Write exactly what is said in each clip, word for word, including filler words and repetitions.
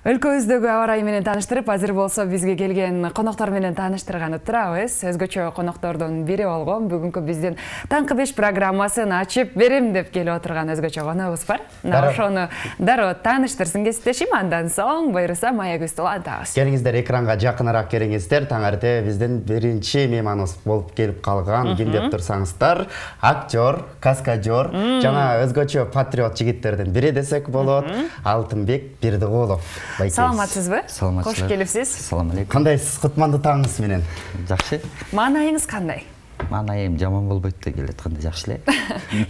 Өлкөбүздөгү аба ырайы менен тааныштырып, азыр болсо бизге келген коноктор менен тааныштырганы турабыз. Өзгөчө коноктордун бири болгон бүгүнкү биздин Таңкы беш программасын ачып берем деп келип отурган өзгөчө коногубуз бар. Мына ошону дароо тааныштырсын кесиптешим, андан соң буйруса маегибизди улантабыз. Келиңиздер, экранга жакыныраак келиңиздер. Таң эрте биздин биринчи мейманыбыз болуп келип калган, ким деп турсаңыздар, актер, каскадер, жана өзгөчө патриот жигиттердин бири десек болот, Алтынбек Бердиголов. Саламатсызбы? Саламатсызбы. Кош келипсиз. Салам алейкум. Кандайсыз? Кутмандуу таңыңыз менен. Жакшы. Маанайыңыз кандай? Маанайым жаман болбойт деп келатканда жакшы эле.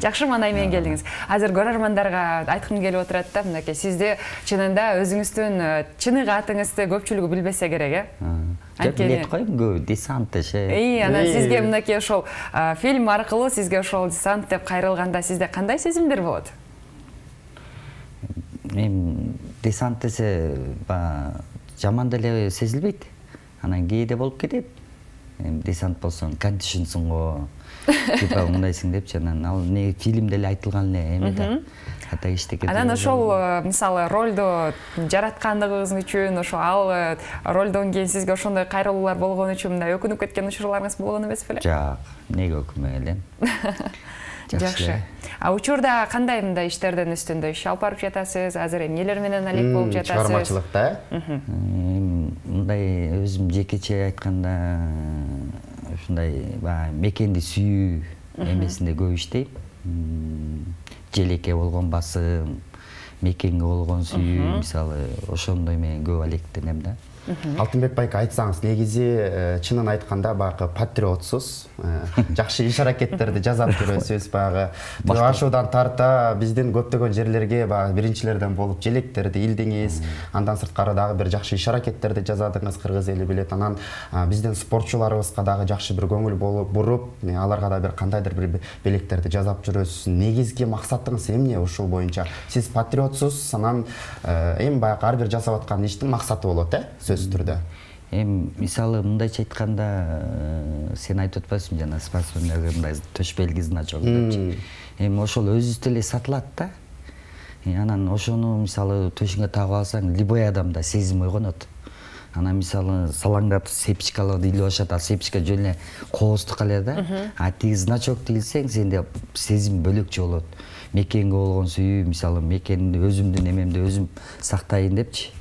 Жакшы маанай менен келдиңиз. Азыр көрөрмандарга айткым келип отурат да, мынакей сизди чынында өзүңүздүн чыныгы атыңызды көпчүлүгү билбесе керек, э? Билет коем, көп десант ше. И, анан сизге мынакей ошол фильм аркылуу сизге ошол десант деп кайрылганда сизде кандай сезимдер болот? Мен десант десе жаман деле сезилбейт. Анан кээде болуп кетет. Десант болсоң кантишинсиң го, типа мындайсың депчи, анан ал не фильмде эле айтылган эле эме да. Ата иштеке. Анан ошол мисалы ролду жараткандыгыңыз үчүн, ошо ал ролдон кийин сизге ошондой кайрылуулар болгон үчүн мындай өкүнүп кеткен учурларыңыз болгон эмес беле? Жок, эмнеге өкүнбөй элем. Жакшы. А учурда кандай мындай иштердин үстүндө иш алып барып жатасыз? Азыр эмнелер менен алек болуп жатасыз? Чыгармачылыкта, э? Мындай өзүм жекече айтканда ушундай мекенди сүйүү эмесинде көп иштейм. Желеке болгон басым, мекенге болгон сүйүү, мисалы, ошондой менен көп алектенем да. Алтынбек байка, айтсаңыз, негизи чынын айтканда багы патриотсуз, жакшы иш аракеттерди жасап жүрөсүз, багы ашуудан тарта биздин көптөгөн жерлерге багы биринчилерден болуп желектерди илдиңиз, андан сырткары дагы бир жакшы иш аракеттерди жасадыңыз, кыргыз эли билет. Анан биздин спортчуларыбызга дагы жакшы бир көңүл болуп буруп, аларга да бир кандайдыр бир белектерди жасап жүрөсүз. Негизги максатыңыз эмне ушул боюнча? Сиз патриотсуз, анан эми баягы ар бир жасап аткан иштин максаты болот, э? Түрдө. Эми мисалы мындайча айтканда, сен айтып атпайсың жана спортсмендерге мындай төш белги значок депчи. Эми ошол өзүбүздө эле сатылат да. Анан ошону мисалы төшүңө тагып алсаң, любой адамда сезим ойгонот. Анан мисалы салаңдатып сепчикаларды илип ашат, а сепчика жөн эле кооздук эле да. А тиги значокду илсең, сенде сезим бөлөкчө болот. Мекенге болгон сүйүү, мисалы мекенди өзүмдүн эмемди өзүм сактайын депчи.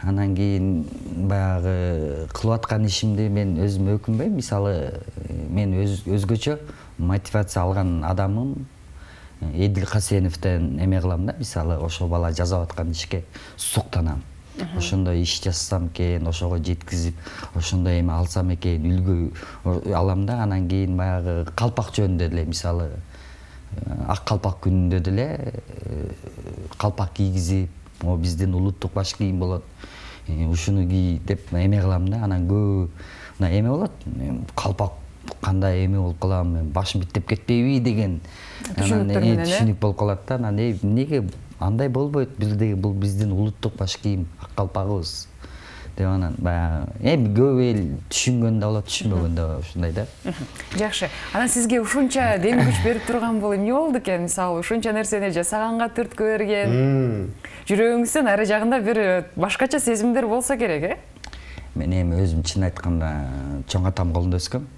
Анан кийин баягы кылып аткан ишимди мен өзүм өкүнбөйм. Мисалы мен өзгөчө мотивация алган адамым Эдил Касеновдон эме кылам да, мисалы ошол бала жасап аткан ишке суктанам. Ошондой иш жасасам экен, ошого жеткизип, ошондой эме алсам экен, үлгү алам да. Анан кийин баягы калпак жөнүндө деле, мисалы ак калпак күнүндө деле калпак кийгизип, о биздин улуттук баш кийим болот, ушуну кий деп эме кылам да. Анан көп мына эме болот, калпак кандай эме болуп калам, башым биттеп кетпейби деген түшүнүк болуп калат да. Анан эмнеге андай болбойт, бирдеги бул биздин улуттук баш кийим, ак калпагыбыз деп анан баягы эми көп эл түшүнгөн да болот, түшүнбөгөн да ушундай да. Жакшы. Анан сизге ушунча дем күч берип турган бул эмне болду экен? Мисалы, ушунча нерсени жасаганга түрткү берген. Жүрөгүңүздүн ары жагында бир башкача сезимдер болсо керек, э? Мен эми өзүм чын айтканда чоң атам колунда өскөм.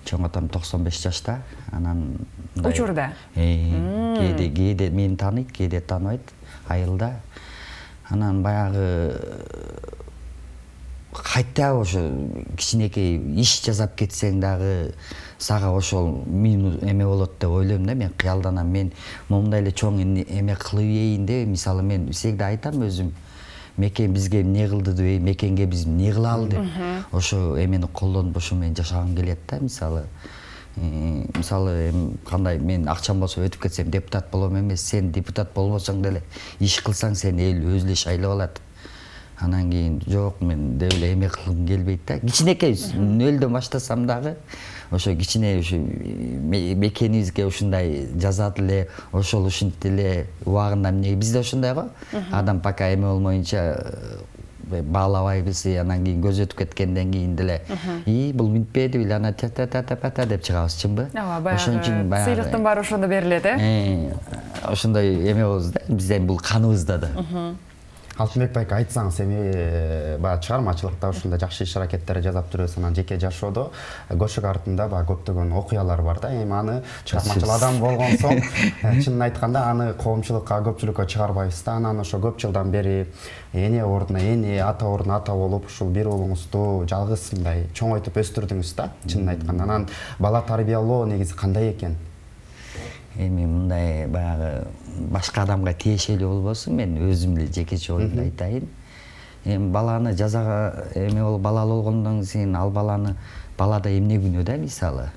Чоң атам токсон беш жашта. Анан учурда кээде кээде мени тааныйт, кээде тааныбайт, айылда. Анан баягы кайта ошо кичинекей иш жасап кетсең дагы сага ошол эме болот деп ойлойм да. Мен кыялданам, мен момундай эле чоң эме кылып ийин деп, мисалы мен всегда айтам өзүм, мекен бизге эмне кылды деп, мекенге биз эмне кылалы деп. Ошо эмени колдонуп ошо менен жашагым келет да. Мисалы мисалы кандай мен акчам болсо өтүп кетсем депутат болом эмес, сен депутат болбосоң деле иш кылсаң сени эл өзү эле шайлап алат. Анан кийин жок, мен деп эле эме кылгым келбейт да. Кичинекей нөлдөн баштасам дагы ошо кичине ушу мекенибизге ушундай жасат эле, ошол ушинтип эле убагында эмне бизде ошондой го. Адам пока эме болмоюнча баалабайбыз, анан кийин көз өтүп кеткенден кийин деле и бул минтпеди биле, ана та та та та та деп чыгабыз, чынбы? Ошон үчүн сыйлыктын баары ошондо берилет, э? Ошондой эме болобуз да, биздин бул каныбызда да. Алтынбек байке, айтсаңыз, эми баягы чыгармачылыкта ушундай жакшы иш аракеттер жасап жүрөсүз, анан жеке жашоодо көшүк артында баягы көптөгөн окуялар бар да. Эми аны чыгармачыл адам болгон соң, чынын айтканда аны коомчулукка, көпчүлүккө чыгарбайбыз да. Анан ошо көп жылдан бери эне ордуна эне, ата ордуна ата болуп, ушул бир уулуңузду жалгыз мындай чоңойтуп өстүрдүңүз да, чынын айтканда. Анан бала тарбиялоо негизи кандай экен? Эми мындай баягы башка адамга тиешелүү болбосун, мен өзүм эле жекече оюмду айтайын. Эми баланы жазага эме болуп балалуу болгондон кийин ал баланы балада эмне күнөө да, мисалы.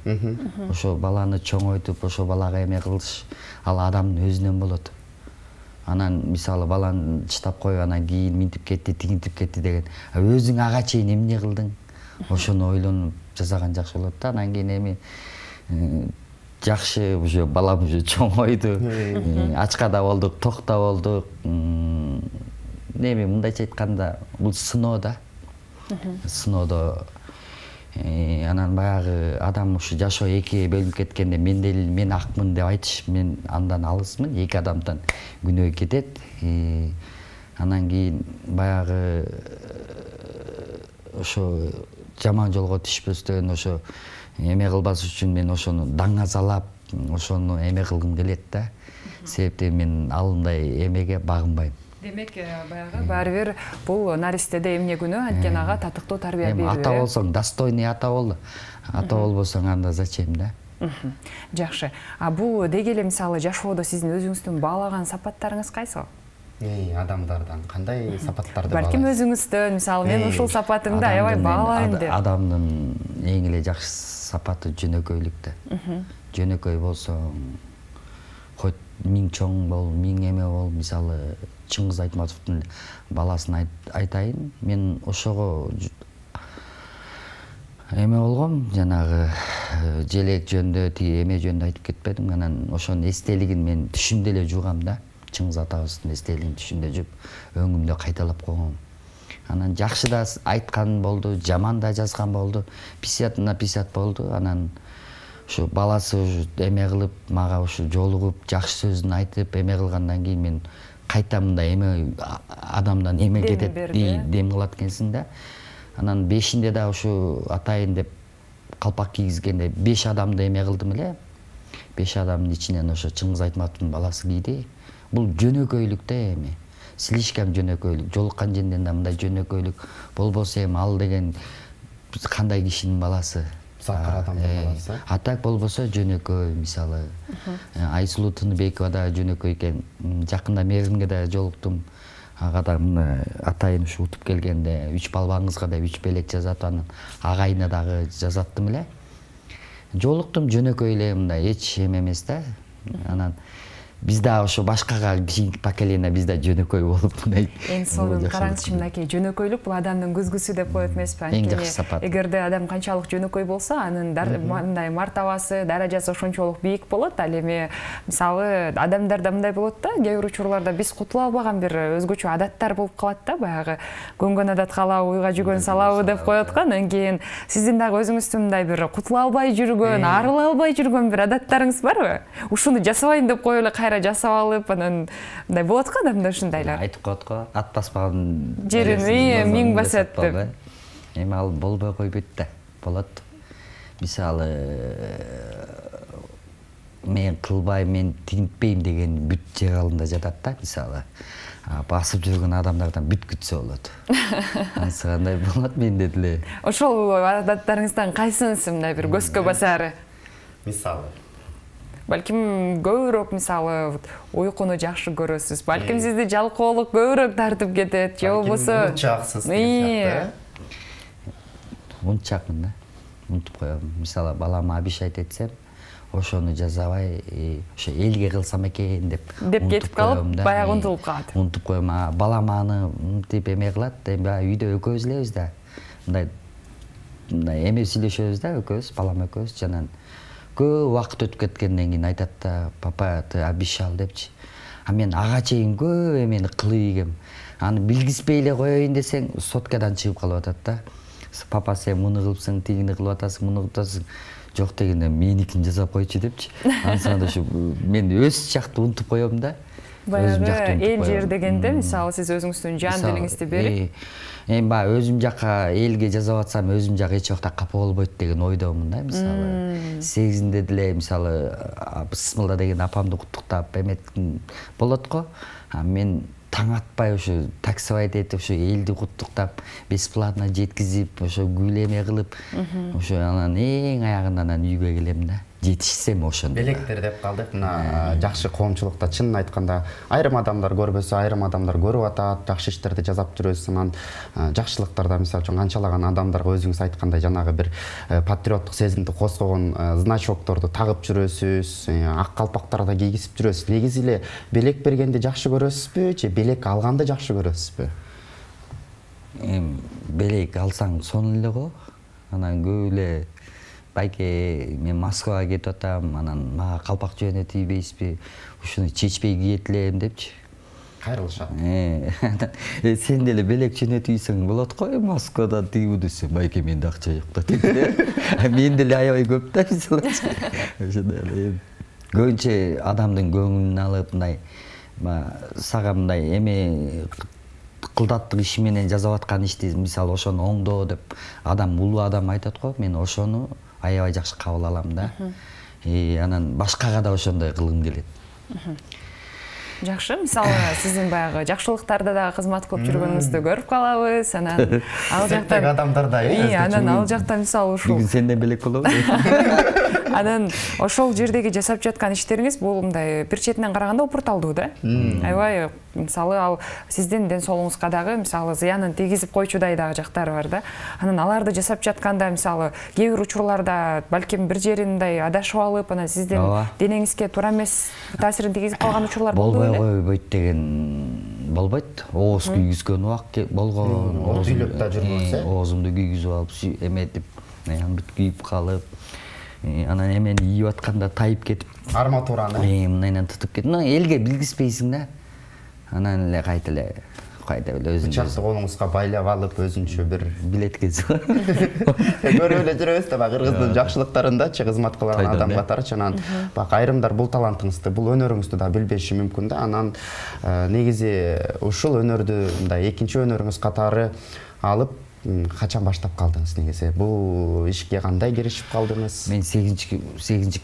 Ошо баланы чоңойтуп, ошо балага эме кылыш ал адамдын өзүнөн болот. Анан мисалы баланы чыдап коюп, анан кийин минтип кетти, тигинтип кетти деген. Өзүң ага чейин эмне кылдың? Ошону ойлонуп жасаган жакшы болот да. Анан кийин эми жакшы уже балам уже чоңойду. Ачка да болдук, ток да болдук. Эми мындайча айтканда бул сыноо да. Сыноодо анан баягы адам ушу жашоо экиге бөлүнүп кеткенде мен деле мен акмын деп айтыш мен андан алысмын. Эки адамдан күнөө кетет. Анан кийин баягы ошо жаман жолго түшпөстөн ошо эме кылбас үчүн мен ошону даңазалап, ошону эме кылгым келет да. Себептен мен алындай эмеге багынбайм. Демек, баягы баары бир бул наристеде эмне күнөө, анткени ага татыктуу тарбия берүү. Ата болсоң, достойный ата бол. Ата болбосоң анда зачем да? Жакшы. А бул деги эле мисалы жашоодо сиздин өзүңүздүн баалаган сапаттарыңыз кайсы? Эй, адамдардан кандай сапаттарды баалайсыз? Балким өзүңүздөн, мисалы мен ушул сапатымды аябай баалайм деп. Адамдын эң эле жакшы сапаты жөнөкөйлүк да. Жөнөкөй болсоң, хоть миң чоң бол, миң эме бол, мисалы Чыңгыз Айтматовдун баласын айтайын, мен ошого эме болгом, жанагы желек жөндө, тиги эме жөндө айтып кетпедим. Анан ошонун эстелигин мен түшүмдө эле жугам да. Чыңгыз атабыздын эстелигин түшүмдө жуп, өңүмдө кайталап койгом. Анан жакшы да айткан болду, жаман да жазган болду, пятьдесят на пятьдесят болду. Анан ушу баласы эме кылып, мага ушу жолугуп, жакшы сөзүн айтып, эме кылгандан кийин мен кайта мындай эме адамдан эме кетет, дем кылат экенсиң да. Анан бешинде да ушу атайын деп калпак кийгизгенде беш адамды эме кылдым эле. Беш адамдын ичинен ошо Чыңгыз Айтматовдун баласы кийди. Бул жөнөкөйлүк да эми. Слишком жөнөкөйлүк. Жолуккан жерден да мындай жөнөкөйлүк болбосо эми ал деген кандай кишинин баласы? Сакыр адамдын баласы. А так болбосо жөнөкөй, мисалы. Айсулуу Тыныбекова да жөнөкөй экен. Жакында Мерзимге да жолуктум. Ага да атайын ушу утуп келгенде үч балбаңызга да үч белек жазат, анан агайына дагы жазаттым эле. Жолуктум жөнөкөй эле, мындай эч эме эмес да. Анан биз да ошо башкага кийинки поколение биз да жөнөкөй болуп мындай. Эң сонун караңызчы, мынакей жөнөкөйлүк бул адамдын көзгүсү деп коет эмеспи? Анткени эгерде адам канчалык жөнөкөй болсо, анын мындай мартабасы, даражасы ошончолук бийик болот. Ал эми мисалы адамдарда мындай болот да, кээ бир учурларда биз кутула албаган бир өзгөчө адаттар болуп калат да, баягы көнгөн адат калабы, уйга жүгөн салабы деп коет го. Анан кийин сиздин дагы өзүңүздүн мындай бир кутула албай жүргөн, арыла албай жүргөн бир адаттарыңыз барбы? Ушуну жасабайын деп коюп эле жасап алып, анан мындай болот го адамда ушундайлар. Айтып коет го, ат баспаган жерин миң басат деп. Эми ал болбой койбойт да, болот. Мисалы, мен кылбайм, мен тигинтпейм деген бүт жер алдында жатат да, мисалы. Басып жүргөн адамдардан бүт күтсө болот. Анысы кандай болот менде деле. Ошол адаттарыңыздан кайсынысы мындай бир көзгө басары? Мисалы балким көбүрөөк мисалы уйкуну жакшы көрөсүз. Балким сизди жалкоолук көбүрөөк тартып кетет, же болбосо унчаксыз деген. Унчакмын да. Унутуп коем. Мисалы балама абиш айт этсем, ошону жазабай, ошо элге кылсам экен деп деп кетип калып, баягы унутулуп калат. Унутуп коем. Балам аны мынтип эме кылат, эми баягы үйдө экөөбүз элебиз да. Мындай мындай эме сүйлөшөбүз да, экөөбүз, балам экөөбүз жанан көп убакыт өтүп кеткенден кийин айтат да, папа, ты обещал депчи. А мен ага чейин көп эмени кылып ийгем. Аны билгизбей эле коеюн десең, соткадан чыгып калып атат да. Папа, сен муну кылыпсың, тигини кылып атасың, муну кылып атасың. Жок дегенде меникин жасап койчу депчи. Ансында ушу мен өз жакты унутуп коем да. баягы эл жер дегенде мисалы сиз өзүңүздүн жан дилиңизди берип эми баягы өзүм жака элге жасап атсам өзүм жак эч убакта капа болбойт деген ойдомун да. Мисалы сегизинде деле мисалы Бысмылда деген апамды куттуктап эметким болот го. А мен таң атпай ошо таксовать этип ошо элди куттуктап бесплатно жеткизип ошо гүлеме кылып ошо анан эң аягында анан үйгө келем да. Жетишсем ошондо. Белектер деп калдык. Мына жакшы коомчулукта чынын айтканда айрым адамдар көрбөсө, айрым адамдар көрүп атат, жакшы иштерди жасап жүрөбүз. Анан жакшылыктарда мисалы үчүн канчалаган адамдарга өзүңүз айткандай жанагы бир патриоттук сезимди козгогон значокторду тагып жүрөсүз, ак калпактарды кийгизип жүрөсүз. Негизи эле белек бергенди жакшы көрөсүзбү же белек алганды жакшы көрөсүзбү? Эми белек алсаң сонун эле го. Анан көп эле байке мен Москвага кетип атам, анан мага калпак жөнөтүп ийбейсизби? Ушуну чечпей кийет элем депчи. Кайрылышат. Э, сен деле белек жөнөтүп ийсең болот го, Москвадан тигүү десе, байке менде акча жок да дейт. Мен деле аябай көп да мисалы. Ошондой эле көбүнчө адамдын көңүлүн алып, мындай сага мындай эме кылдаттык иши менен жасап аткан ишти мисалы ошону оңдоо деп адам улуу адам айтат го, мен ошону аябай жакшы кабыл алам да. И анан башкага да ошондой кылгым келет. Жакшы, мисалы сиздин баягы жакшылыктарда да кызмат кылып жүргөнүңүздү көрүп калабыз. Анан ал жакта адамдарда э, анан ал жакта мисалы ушул бүгүн сенден белек болобу? Анан ошол жердеги жасап жаткан иштериңиз бул мындай бир четинен караганда упурталдуу да. Аябай мисалы ал сиздин ден соолугуңузга дагы мисалы зыянын тийгизип койчудай дагы жактары бар да. Анан аларды жасап жатканда мисалы кээ бир учурларда балким бир жерин мындай адашып алып, анан сиздин денеңизге туура эмес таасирин тийгизип калган учурлар болду беле? Койбойт деген болбойт. Ооз күйгүзгөн убак болгон. Ооз үйлөп да жүрмөсө. Оозумду күйгүзүп алып эметип, анан бүт күйүп калып, анан эмени ийип атканда тайып кетип, арматураны мындан тутуп кетип, элге билгизбейсиң да. Анан эле кайта эле кайда эле өзүң бычакты колуңузга байлап алып өзүнчө бир билеткезип көрүп эле жүрөбүз да баягы кыргыздын жакшылыктарындачы кызмат кылган адам катарычы. Анан баягы айрымдар бул талантыңызды, бул өнөрүңүздү да билбеши мүмкүн да. Анан негизи ушул өнөрдү мындай экинчи өнөрүңүз катары алып качан баштап калдыңыз негизи? Бул ишке кандай киришип калдыңыз? Мен сегизинчи сегизинчи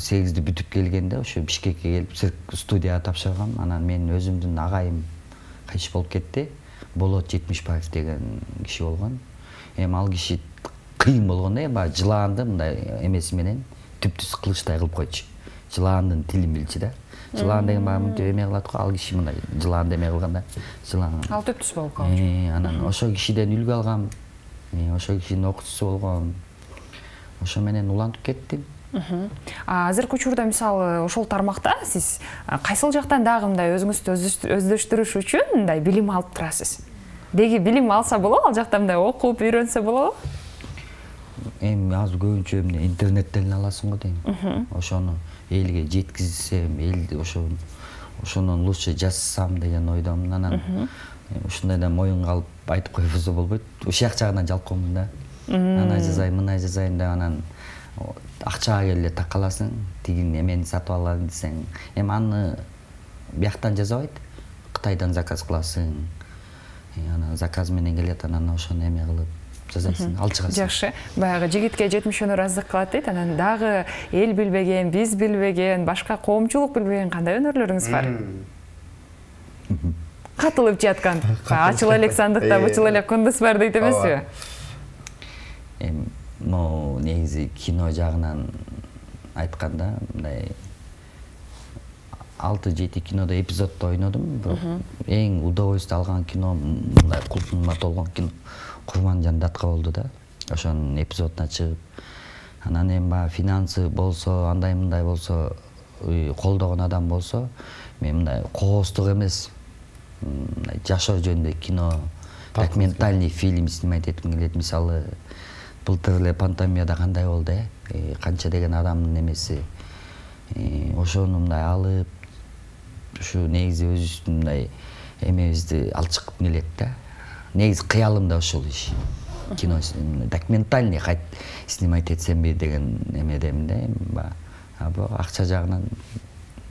сегизди бүтүп келгенде ошо Бишкекке келип студияга тапшыргам. Анан менин өзүмдүн агайым кайтыш болуп кетти. Болот Жетимишбаев деген киши болгон. Эми ал киши кыйын болгон да, баягы жылаанды мындай эмеси менен түп-түз кылычтай кылып койчу. Жылаандын тилин билчү да. Жылаан деген баягы мынтип эме кылат го, ал киши мындай жылаанды эме кылганда жылаан. Ал түп-түз болуп калчу. Анан ошо кишиден үлгү алгам. Ошо кишинин окуучусу болгом. Ошо менен улантып кеттим. Азыркы учурда мисалы ошол тармакта сиз кайсыл жактан дагы мындай өзүңүздү өздөштүрүш үчүн мындай билим алып турасыз? Деги билим алса болобу, ал жакта мындай окуп үйрөнсө болобу? Эми азыр көбүнчө эмне интернеттен аласың го дейм. Ошону элге жеткизсем, элди ошо ошондон лучше жазсам деген ойдомун. Анан ушундайдан моюнга алып айтып койбосо болбойт. Ушак жагынан жалкоомун да. Ана жазайын, мына жазайын деп анан акчага келе такаласың, тигин эмени сатып алайын десең, эми аны бияктан жасабайт, Кытайдан заказ кыласың. Анан заказ менен келет, анан ошону эме кылып жасайсың, алчыгасың. Жакшы. Баягы жигитке жетимиш өнөр аздык кылат дейт. Анан дагы эл билбеген, биз билбеген, башка коомчулук билбеген кандай өнөрлөрүңүз бар? Катылып жаткан. Ачыл элек сандыкта бычыл элек кундуз бар дейт эмеспи? Эми но негизи кино жагынан айтканда мындай алты жети кинодо эпизоддо ойнодум. Эң удовольствие алган кино мындай култумга толгон кино Курманжан Датка болду да. Ошонун эпизодуна чыгып, анан эми баягы финансы болсо, андай мындай болсо, колдогон адам болсо, мен мындай кооздук эмес, мындай жашоо жөнүндө кино, документальный фильм снимать этким келет. Мисалы былтыр эле пандемияда кандай болду, э? Канча деген адамдын эмеси. Ошону мындай алып, ушу негизи өзүбүздүн мындай эмебизди алчыккым келет да. Негизи кыялым да ушул иш. Кино документальный кайт снимать этсемби деген эмедемин да. А бирок акча жагынан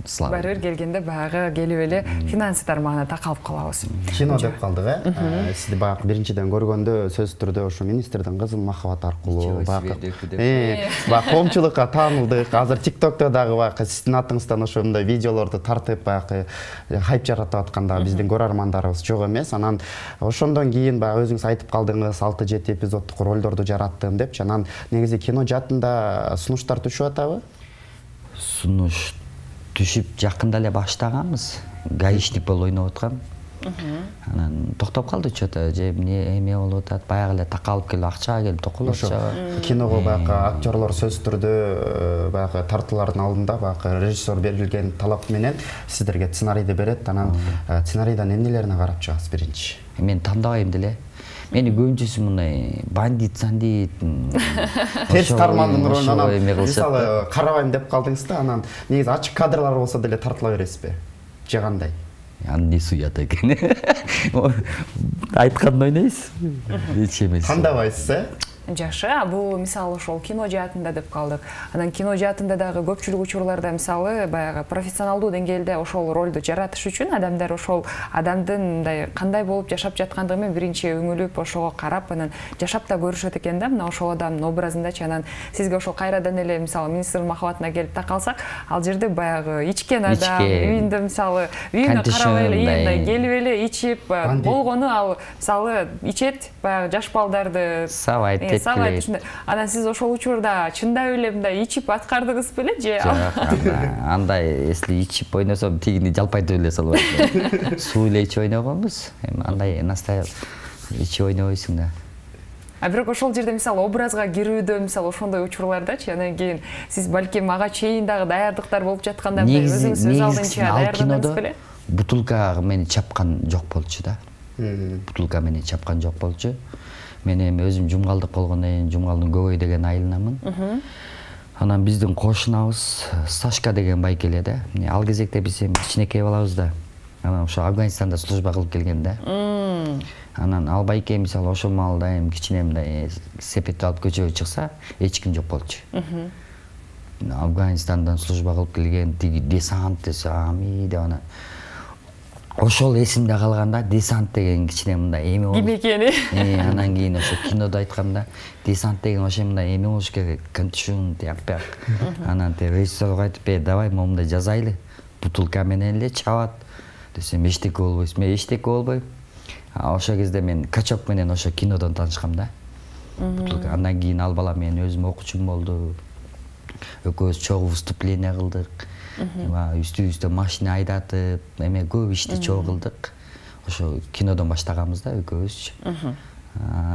слава. Баары бир келгенде баягы келип эле финансы тармагына такалып калабыз. Кино деп калдык, э? Сизди баягы биринчиден көргөндө сөзсүз түрдө ошо министрдин кызыл махабат аркылуу баягы э баягы коомчулукка таанылдык. Азыр TikTok'то дагы баягы сиздин атыңыздан ошондой видеолорду тартып баягы хайп жаратып атканда биздин көрөрмандарыбыз жок эмес. Анан ошондон кийин баягы өзүңүз айтып калдыңыз, алты жети эпизоддук ролдорду жараттым депчи. Анан негизи кино жаатында сунуштар түшүп атабы? Сунуш түшүп жакында эле баштаганбыз. Гаишник болуп ойноп аткам. Анан токтоп калды чөтө, же эмне эме болуп атат, баягы эле такалып келип акчага келип токулуп атат. Киного баягы актерлор сөзсүз түрдө баягы тартуулардын алдында баягы режиссер берилген талап менен сиздерге сценарийди берет. Анан сценарийден эмнелерине карап чыгасыз биринчи? Мен тандабайм деле. Мени көбүнчөсү мындай бандит, сандит, терс тармандын ролунан мисалы карабайм деп калдыңыз да, анан негизи ачык кадрлар болсо деле тартыла бересизби? Же кандай? Аны суят экен. Айтканды ойнойсуз. Эч эмес. Кандабайсыз, э? Жакшы, бул мисалы ошол кино жаатында деп калдык. Анан кино жаатында дагы көпчүлүк учурларда мисалы баягы профессионалдуу деңгээлде ошол ролду жаратыш үчүн адамдар ошол адамдын мындай кандай болуп жашап жаткандыгы менен биринчи үңүлүп, ошого карап, анан жашап да көрүшөт экен да, мына ошол адамдын образындачы. Анан сизге ошол кайрадан эле мисалы министр махабатына келип такалсак, ал жерде баягы ичкен адам, үйүндө мисалы үйүнө карабай эле мындай келип эле ичип болгону, ал мисалы ичет баягы жаш балдарды сабайт. Анан сиз ошол учурда чындап эле мындай ичип аткардыгыз беле же? Андай если ичип ойносом тигини жалпайтып эле салып атат. Суу эле ичип ойногонбуз. Эми андай настоящий ичип ойнобойсуң да. А бирок ошол жерде мисалы образга кирүүдө мисалы ошондой учурлардачы, анан кийин сиз балким ага чейин дагы даярдыктар болуп жатканда өзүңүз өз алдынча даярдыңыз беле? Бутылка мени чапкан жок болчу да. Бутылка мени чапкан жок болчу. Мен эми өзүм жумгалдык болгондон кийин Жумгалдын Көбөй деген айылынамын. Анан биздин кошунабыз Сашка деген байке эле да. Ал кезекте биз эми кичинекей балабыз да. Анан ошо Афганистанда служба кылып келген да. Анан ал байке мисалы ошол маалда эми кичине мындай сепетти алып көчөгө чыкса, эч ким жок болчу. Афганистандан служба кылып келген тиги десант десе, ами деп анан ошол эсимде калганда, десант деген кичине мындай эме болду. Ким экени? Анан кийин ошо кинодо айтканда, десант деген ошо мындай эме болуш керек, контишн тияппак. Анан режиссерге айтып, "Э, давай момундай жазайлы. Бутылка менен эле чабат." Десем, "Эчтеке болбойсуз." Мен эчтеке болбойм. Ошол кезде мен Качок менен ошо кинодон таанышкам да. Бутылка. Андан кийин ал бала менин өзүм окуучум болду. Экөөбүз чогуу выступление кылдык. Үстүбүздө машина айдатып, эме көп ишти чогуу кылдык. Ошо кинодон баштаганбыз да экөөбүз.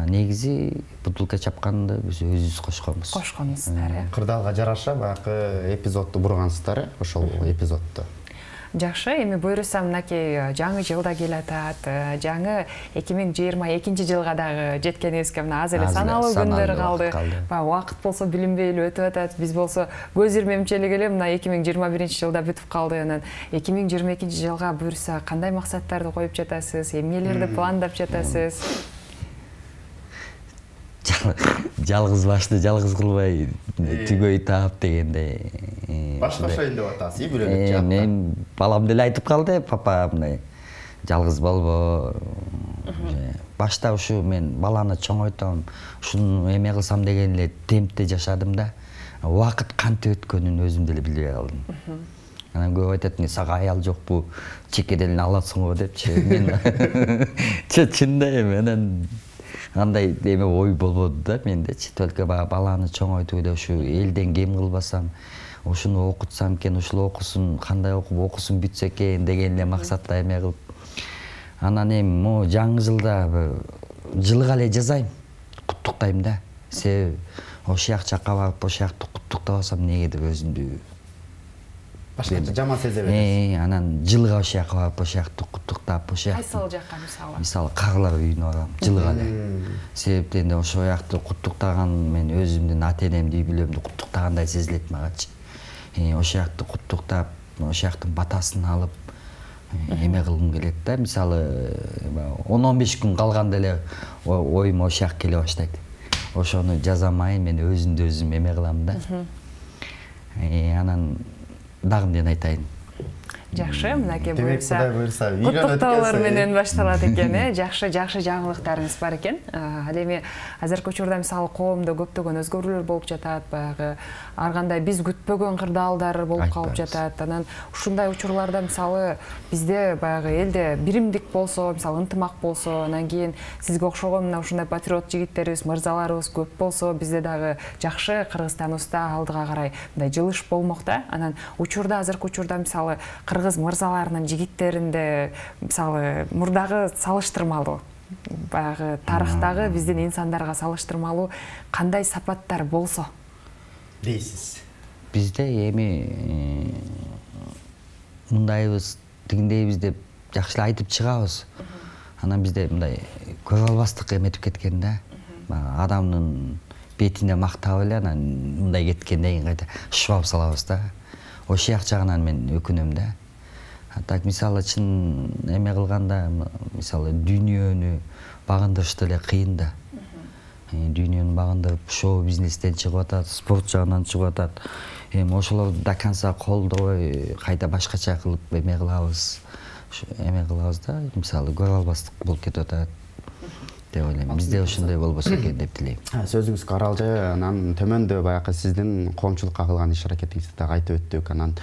Негизи бутылка чапканды биз өзүбүз кошконбуз. Кошконсуздар, э? Кырдаалга жараша баягы эпизодду бургансыздар, э? Ошол эпизодду. Жакшы, эми буюрса мынакей жаңы жыл да келатат. Жаңы эки миң жыйырма экинчи жылга дагы жеткенибизге мына аз эле саналуу күндөр калды. Убакыт болсо билинбей эле өтүп атат. Биз болсо көз ирмемчилик эле мына эки миң жыйырма биринчи жылда бүтүп калды. Анан эки миң жыйырма экинчи жылга буюрса кандай максаттарды коюп жатасыз? Эмнелерди пландап жатасыз? Жалгыз башты жалгыз кылбай түгөй таап дегендей. Башташайын деп атасыз, и бирөөлүк жакта. Мен балам деле айтып калды, папа мындай жалгыз болбо. Башта ушу мен баланы чоңойтом, ушуну эме кылсам деген эле темпте жашадым да. Убакыт кантип өткөнүн өзүм деле билбей калдым. Анан көп айтат, "Не сага аял жокпу? Чекеделин аласыңбы?" депчи. Мен чында эми анан андай эме ой болбоду да мендечи. Только баланы чоңойтууда ушу элден кем кылбасам, ушуну окутсам экен, ушул окусун, кандай окуп окусун бүтсө экен деген эле максатта эме кылып. Анан эми могу жаңы жылда жылга эле жазайм, куттуктайм да. Себеби ошол жакка барып, ошол жакты куттуктабасам эмнеге деп өзүмдү башкача жаман сезе бересиз. Э, анан жылга ошол жакка барып, ошол жакты куттуктап, ошол кайсыл жакка мисалы? Мисалы Карылар үйүнө барам, жылга эле. Себептен эле ошол жакты куттуктаган мен өзүмдүн ата-энемди, үй бүлөмдү куттуктагандай сезилет магачы. Э, ошол жакты куттуктап, ошол жактын батасын алып, эме кылгым келет да. Мисалы он он беш күн калганда эле оюм ошол жак келе баштайт. Ошону жазамай мен өзүмдү өзүм эме кылам да. Э, анан дагы эмнени айтайын? Жакшы, мынакей буюрса. Демек, Кудай буюрса, куттуктоолор менен башталат экен, э? Жакшы, жакшы жаңылыктарыңыз бар экен. Ал эми азыркы учурда мисалы коомдо көптөгөн өзгөрүүлөр болуп жатат, баягы ар кандай биз күтпөгөн кырдаалдар болуп калып жатат. Анан ушундай учурларда мисалы бизде баягы элде биримдик болсо, мисалы ынтымак болсо, анан кийин сизге окшогон мына ушундай патриот жигиттерибиз, мырзаларыбыз көп болсо, бизде дагы жакшы Кыргызстаныбызда алдыга карай мындай жылыш болмок да. Анан учурда азыркы учурда мисалы кыргыз мырзаларынын жигиттеринде мисалы мурдагы салыштырмалуу баягы тарыхтагы биздин инсандарга салыштырмалуу кандай сапаттар болсо дейсиз? Бизде эми мындайбыз, тигиндейбиз деп жакшы айтып чыгабыз. Анан бизде мындай көз албастык эметип кеткен да. Адамдын бетине мактап эле анан мындай кеткенден кийин кайта шыбап салабыз да. Ошол жак жагынан мен өкүнөм да. Так мисалы чын эме кылганда мисалы дүйнөнү багындырыш деле кыйын да. Дүйнөнү багындырып шоу бизнестен чыгып атат, спорт жагынан чыгып атат. Эми ошолорду до конца колдобой кайта башкача кылып эме кылабыз. Эме кылабыз да, мисалы көз албастык болуп кетип атат деп ойлойм. Бизде ошондой болбосо экен деп тилейм. Сөзүңүз каралжы, анан төмөндө баягы сиздин коомчулукка кылган иш аракетиңизди дагы айтып өттүк. Анан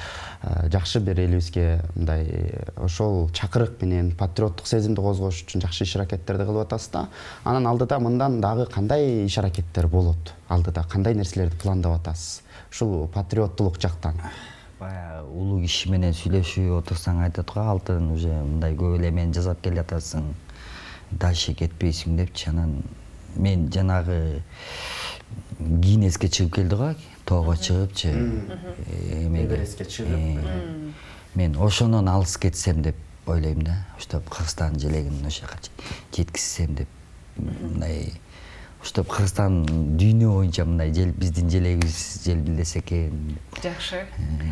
жакшы бир элибизге мындай ошол чакырык менен патриоттук сезимди козгош үчүн жакшы иш аракеттерди кылып атасыз да. Анан алдыда мындан дагы кандай иш аракеттер болот? Алдыда кандай нерселерди пландап атасыз? Ушул патриоттулук жактан. Баягы улуу киши менен сүйлөшүп отурсаң айтат го, алтын уже мындай көп эле мен жасап келатасың. Дальше кетпейсиң депчи. Анан мен жанагы Гиннеске чыгып келди го, тоого чыгыпчы, эмеге чыгып. Мен ошонон алыс кетсем деп ойлойм да. Оштоп Кыргызстан желегин ошо жака жеткизсем деп. Мындай оштоп Кыргызстан дүйнө боюнча мындай биздин желегибиз желбилдесе экен. Жакшы.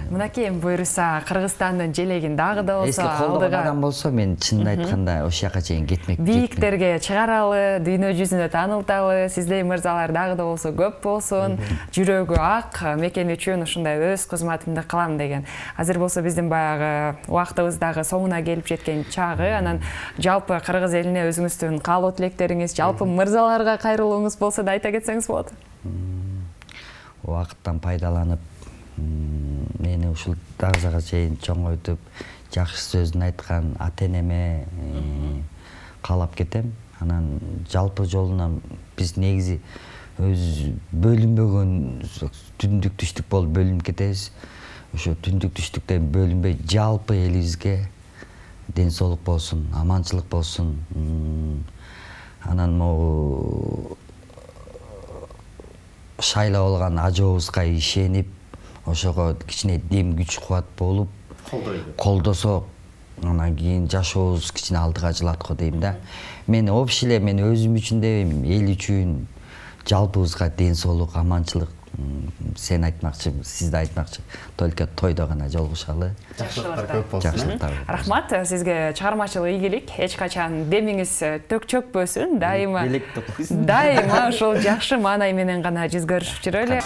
Мынакей буюрса Кыргызстандын желегин дагы да болсо алдыга адам болсо мен чынын айтканда ошол жака чейин кетмек. Бийиктерге чыгаралы, дүйнө жүзүнө таанылталы, сиздей мырзалар дагы да болсо көп болсун, жүрөгү ак, мекен үчүн ушундай өз кызматымды кылам деген. Азыр болсо биздин баягы убактыбыз дагы соңуна келип жеткен чагы. Анан жалпы Кыргыз элине өзүңүздүн каалоо тилектериңиз, жалпы мырзаларга кайрылууңуз болсо да айта кетсеңиз болот. Убакыттан пайдаланып мени ушул дагызага чейин чоңойтуп, жакшы сөзүн айткан ата-энеме каалап кетем. Анан жалпы жолунан биз негизи өз бөлүнбөгөн түндүк түштүк болуп бөлүнүп кетебиз. Ошо түндүк түштүктөн бөлүнбөй жалпы элибизге ден соолук болсун, аманчылык болсун. Анан могу шайлап алган ажообузга ишенип, ошого кичине дем күч кубат болуп колдосок, анан кийин жашообуз кичине алдыга жылат го дейм да. Мен общий эле мен өзүм үчүн дебейм, эл үчүн жалпыбызга ден соолук, аманчылык. Сен айтмакчы, сиз да айтмакчы. Только тойдо гана жолугушалы. Жакшылыктар көп болсун. Рахмат, сизге чыгармачылык ийгилик, эч качан демиңиз төк чөкпөсүн, дайыма. Дайыма ошол жакшы маанай менен гана жүзгөрүшүп жүрөлү.